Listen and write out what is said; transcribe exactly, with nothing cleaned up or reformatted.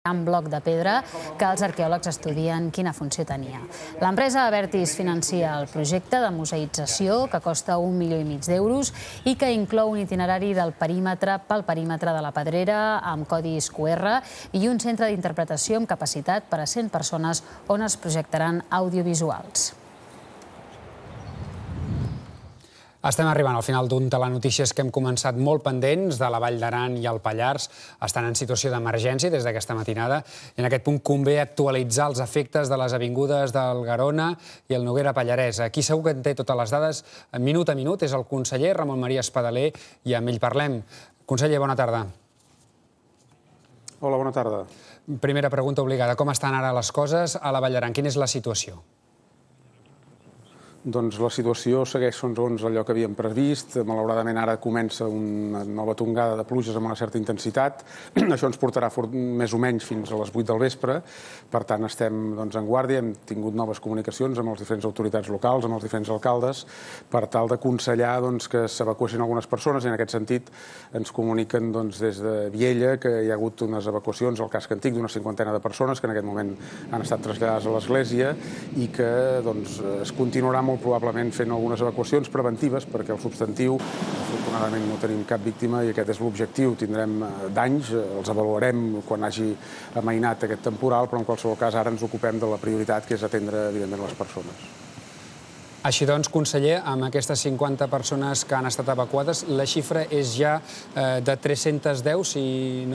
gran bloc de pedra que els arqueòlegs estudien quina funció tenia. L'empresa Abertis financia el projecte de museïtzació, que costa un milió i mig d'euros i que inclou un itinerari del perímetre pel perímetre de la Pedrera amb codis Q R i un centre d'interpretació amb capacitat per a cent persones on es projectaran audiovisuals. Estem arribant al final d'un telenotícies que hem començat molt pendents de la Vall d'Aran i el Pallars. Estan en situació d'emergència des d'aquesta matinada. I en aquest punt convé actualitzar els efectes de les avingudes del Garona i el Noguera Pallarès. Aquí segur que en té totes les dades minut a minut. És el conseller Ramon Maria Espadaler i amb ell parlem. Conseller, bona tarda. Hola, bona tarda. Primera pregunta obligada. Com estan ara les coses a la Vall d'Aran? Quina és la situació? Doncs la situació segueix segons allò que havíem previst. Malauradament ara comença una nova tongada de pluges amb una certa intensitat. Això ens portarà més o menys fins a les vuit del vespre. Per tant, estem en guàrdia. Hem tingut noves comunicacions amb les diferents autoritats locals, amb els diferents alcaldes, per tal d'aconsellar que s'evacuessin algunes persones. I en aquest sentit ens comuniquen des de Viella que hi ha hagut unes evacuacions al casc antic d'una cinquantena de persones que en aquest moment han estat traslladades a l'església i que es continuarà molt probablement fent algunes evacuacions preventives perquè el substantiu, afortunadament no tenim cap víctima i aquest és l'objectiu. Tindrem danys, els avaluarem quan hagi amainat aquest temporal, però en qualsevol cas ara ens ocupem de la prioritat que és atendre evidentment les persones. Així doncs, conseller, amb aquestes cinquanta persones que han estat evacuades, la xifra és ja de tres-centes deu, si no